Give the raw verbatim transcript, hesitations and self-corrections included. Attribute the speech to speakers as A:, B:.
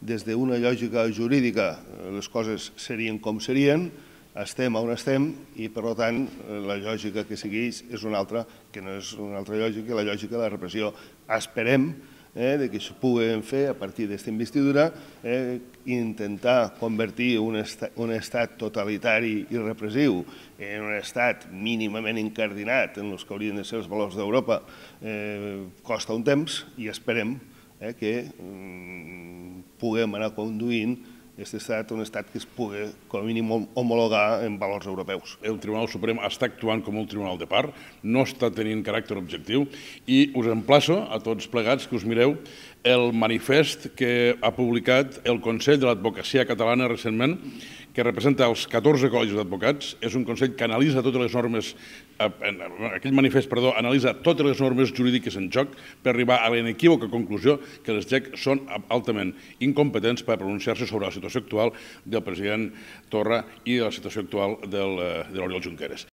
A: des d'una lògica jurídica les coses serien com serien, estem on estem i, per tant, la lògica que segueix és una altra, que no és una altra lògica, la lògica de la repressió. Esperem que això puguem fer a partir d'aquesta investidura, intentar convertir un estat totalitari i repressiu en un estat mínimament incardinat en els que haurien de ser els valors d'Europa costa un temps i esperem que puguem anar conduint aquest estat, un estat que es pugui, com a mínim, homologar en valors europeus.
B: El Tribunal Suprem està actuant com un tribunal de part, no està tenint caràcter objectiu i us emplaço a tots plegats que us mireu el manifest que ha publicat el Consell de l'Advocacia Catalana recentment, que representa els catorze col·legis d'advocats. És un Consell que analitza totes les normes, aquell manifest, perdó, analitza totes les normes jurídiques en joc per arribar a la inequívoca conclusió que les G E C són altament incompetents per pronunciar-se sobre la situació actual del president Torra i de la situació actual de l'Oriol Junqueras.